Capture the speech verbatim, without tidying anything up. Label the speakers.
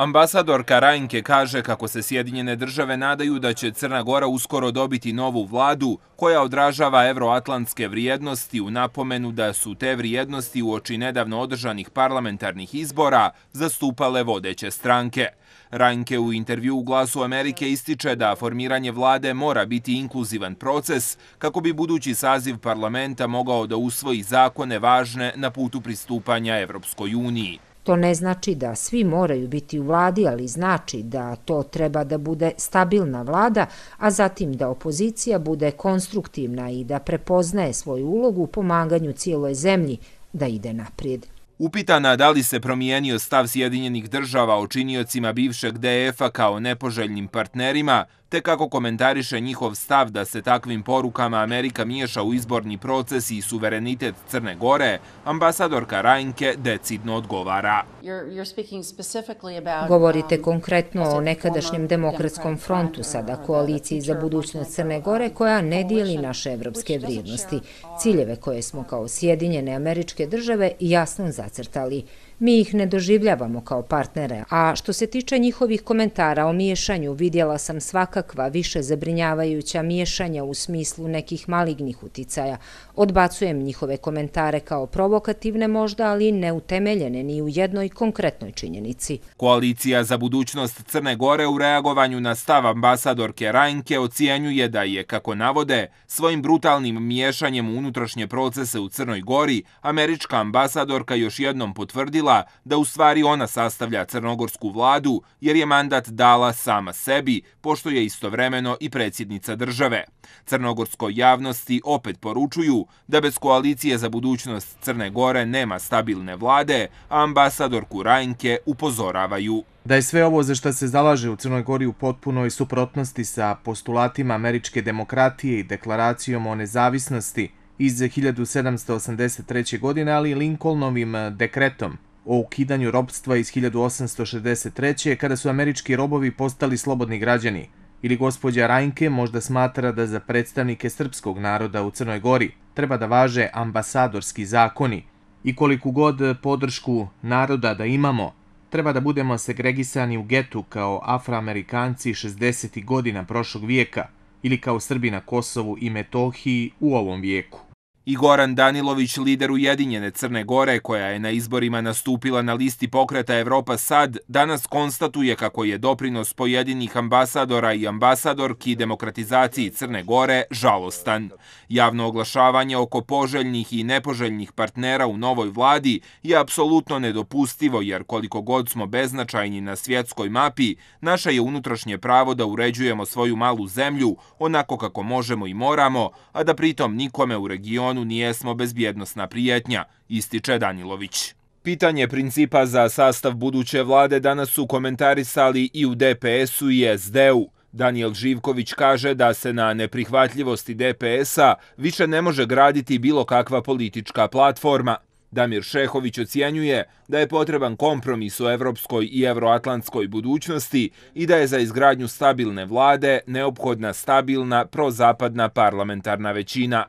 Speaker 1: Ambasadorka Reinke kaže kako se Sjedinjene države nadaju da će Crna Gora uskoro dobiti novu vladu koja odražava evroatlantske vrijednosti u napomenu da su te vrijednosti uoči nedavno održanih parlamentarnih izbora zastupale vodeće stranke. Reinke u intervju u Glasu Amerike ističe da formiranje vlade mora biti inkluzivan proces kako bi budući saziv parlamenta mogao da usvoji zakone važne na putu pristupanja Evropskoj uniji.
Speaker 2: To ne znači da svi moraju biti u vladi, ali znači da to treba da bude stabilna vlada, a zatim da opozicija bude konstruktivna i da prepoznaje svoju ulogu u pomaganju cijeloj zemlji da ide naprijed.
Speaker 1: Upitana da li se promijenio stav Sjedinjenih država o činiocima bivšeg D F-a kao nepoželjnim partnerima, te kako komentariše njihov stav da se takvim porukama Amerika miješa u izborni proces i suverenitet Crne Gore, ambasadorka Reinke decidno odgovara.
Speaker 2: Govorite konkretno o nekadašnjem demokratskom frontu, sada koaliciji za budućnost Crne Gore, koja ne dijeli naše evropske vrijednosti, ciljeve koje smo kao Sjedinjene Američke Države jasno zacrtali. Mi ih ne doživljavamo kao partnere, a što se tiče njihovih komentara o miješanju, vidjela sam svakakva više zabrinjavajuća miješanja u smislu nekih malignih uticaja. Odbacujem njihove komentare kao provokativne možda, ali neutemeljene ni u jednoj konkretnoj činjenici.
Speaker 1: Koalicija za budućnost Crne Gore u reagovanju na stav ambasadorke Reinke ocjenjuje da je, kako navode, svojim brutalnim miješanjem u unutrašnje procese u Crnoj Gori, američka ambasadorka još jednom potvrdila da u stvari ona sastavlja crnogorsku vladu jer je mandat dala sama sebi, pošto je istovremeno i predsjednica države. Crnogorskoj javnosti opet poručuju da bez koalicije za budućnost Crne Gore nema stabilne vlade, a ambasadorku Reinke upozoravaju
Speaker 3: da je sve ovo za što se zalaže u Crnoj Gori u potpunoj suprotnosti sa postulatima američke demokratije i deklaracijom o nezavisnosti iz hiljadu sedamsto osamdeset treće. godine, ali i Lincolnovim dekretom o ukidanju ropstva iz hiljadu osamsto šezdeset treće. kada su američki robovi postali slobodni građani. Ili gospođa Reinke možda smatra da za predstavnike srpskog naroda u Crnoj Gori treba da važe ambasadorski zakoni i koliku god podršku naroda da imamo, treba da budemo segregisani u getu kao Afroamerikanci šezdesetih godina prošlog vijeka ili kao Srbi na Kosovu i Metohiji u ovom vijeku.
Speaker 1: I Goran Danilović, lider Ujedinjene Crne Gore, koja je na izborima nastupila na listi pokreta Evropa Sad, danas konstatuje kako je doprinos pojedinih ambasadora i ambasadorki demokratizaciji Crne Gore žalostan. Javno oglašavanje oko poželjnih i nepoželjnih partnera u novoj vladi je apsolutno nedopustivo, jer koliko god smo beznačajni na svjetskoj mapi, naše je unutrašnje pravo da uređujemo svoju malu zemlju onako kako možemo i moramo, a da pritom nikome u regionu nijesmo bezbjednosna prijetnja, ističe Danilović. Pitanje principa za sastav buduće vlade danas su komentarisali i u D P S-u i S D-u. Danijel Živković kaže da se na neprihvatljivosti D P S-a više ne može graditi bilo kakva politička platforma. Damir Šehović ocjenjuje da je potreban kompromis o evropskoj i evroatlantskoj budućnosti i da je za izgradnju stabilne vlade neophodna stabilna prozapadna parlamentarna većina.